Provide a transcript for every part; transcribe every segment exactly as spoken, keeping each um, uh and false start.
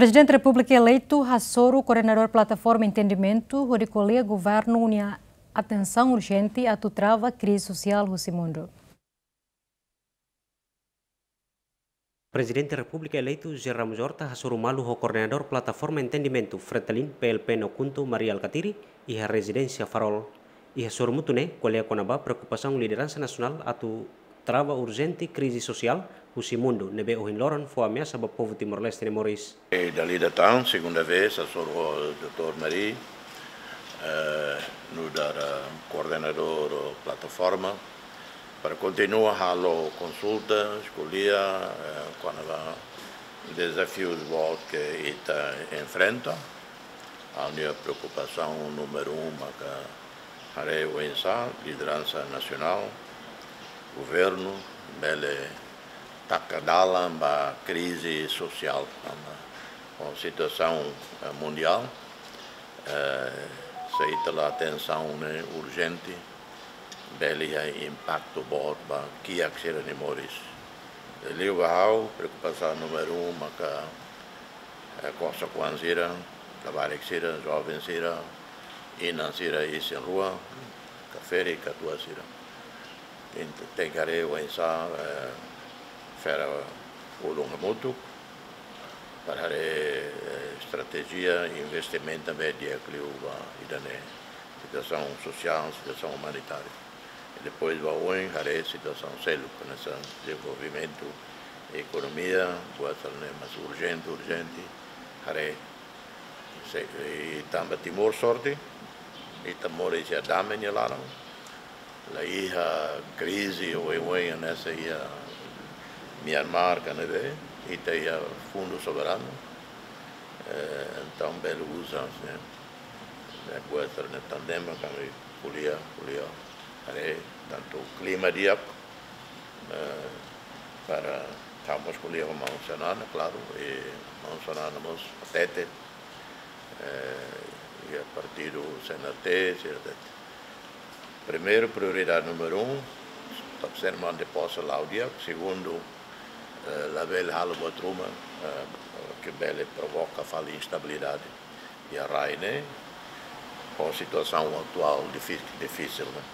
Prezidente Repúblika eleitu hasoru koordenadór Plataforma Entendimentu hodi ko'alia governu nia atensaun urjente atu trava krize sosiál husi mundu. Prezidente Repúblika eleitu José Ramos Horta hasoru malu ho koordenadór Plataforma Entendimentu Fretilin, P L P, no KHUNTO, Mari Alkatiri, iha rezidénsia Farol. Iha sorumutu ne'e ko'alia kona-ba preokupasaun lideransa nasionál atu trava urjente krize sosiál husi mundu ne'ebé ohin loron fó ameasa ba povu Timor-Leste nia moris. E dala ida tan, segunda vez, hasoru ho doutór Mari, eh, nu'udar, eh, koordenadór plataforma, para kontinua halo konsulta, ko'alia, eh, kona-ba dezafius boot ke ita enfrenta. Ha'u-nia preokupasaun númeru um maka haree oinsá lideransa nasionál, governu, bele taka dalan ba krize sosiál, tanba ho situasaun, eh, mundiál, eh, se ita la atensaun ne'e urjente, bele iha impaktu boot ba kiak sira-nia moris. Liu ba ha'u, preokupasaun númeru um maka, eh, kosok-oan sira, labarik sira, joven sira, inan sira isin-rua, ka ferik, katuas sira. Ent-, tenke haree oinsá, eh, fera ulun hamutuk, para haree, eh, estratéjia investimentu ne'ebé di'ak liu ba ida-ne'e, situasaun sosiál, situasaun umanitária. I depois ba oin haree situasaun seluk, hanesan dezenvolvimentu, ekonomia, buat sira-ne'e mais urjente, urjente, haree. Se, i tanba Timor sorte, ita moris iha dame nia laran, la iha krize oioin hanesan iha Myanmar ka ne'ebé, ita iha fundu soberanu, eh, entaun bele uza, ne'e, ne'e buat sira-ne'e tan ne'ebé mak ami ko'alia, ko'alia, haree, tantu klima di'ak, eh, para ha'u mós ko'alia ho maun Xanana, klaru, i maun Xanana mós hatete, eh, iha partidu C N R T, sira hatete. Primeiru, prioridade númeru um, ita sei manda posa la'o di'ak. Segundu, eh, labele halo buat ruma, eh, ke bele provoka fali instabilidade iha rai ne'e, ho situasaun atuál difí-, difisil ne'e.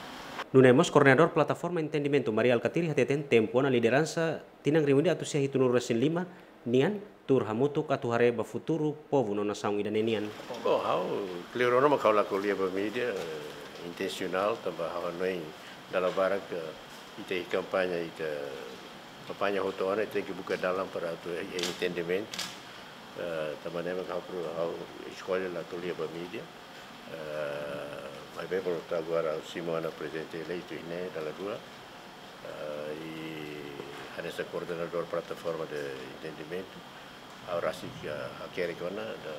Nune'e mós koordenadór Plataforma Entendimentu Mari Alkatiri hateten tempu ona lideransa tinan rihun ida atus sia hitunulu resin lima nian tuur hamutuk atu haree ba futuru povu no nasaun ida-ne'e nian. Bom, ha'u, klaru ona mak ha'u la ko'alia ba mídia, eh, intensionál, tanba ha'u hanoin dala barak, eh, ita iha kampaña, ita kampaña hotu ona, ita tenke buka dalan para atu iha entendimentu. Eh, tanba ne'e mak ha'u pro-, ha'u eskolla la ko'alia ba mídia. Eh, maibé por agora simu ona prezidente eleitu iha ne'e dala rua. Eh, i hanesan koordenadór Plataforma de Entendimentu, ha'u rasik, eh, hakerek ona da,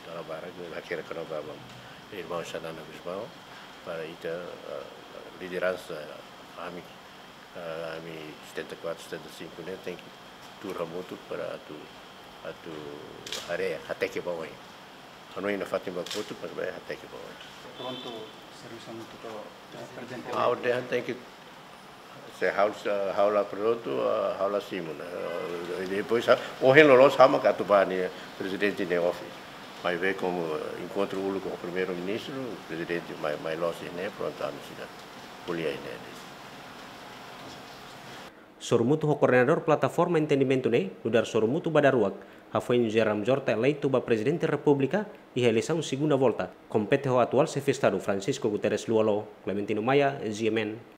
dala barak, hakerek ona ba, ba irmaun Xanana Gusmão, para ita, eh, lideransa ami, eh, ami setenta e quatro, setenta e cinco ne'e tenke tuur hamutuk para atu, atu haree, hateke ba oin. Hanoin nafatin ba kotuk, maibé hateke ba oin. Prontu servisu hamutuk ho, eh, prezidente. Ha'u dehan tenke, se ha'u, se ha'u la prontu, eh, ha'u la simu ona. Eh, depois, ha'u, ohin loloos ha'u mak atu ba nia prezidente nia office. Maibé komu, eh, enkontru uluk ho primeiru-ministru, prezidente mai, mai loos iha ne'e, prontu, ami sei ko'alia iha ne'e. Sorumutu ho koordenadór Plataforma Entendimentu ne'e, nu'udar sorumutu ba daruak, hafoin José Ramos Horta eleitu ba Prezidente Repúblika iha eleisaun segunda volta, kompete ho atuál Xefe Estadu Francisco Guterres Lú Olo. Clementino Maia, G M N.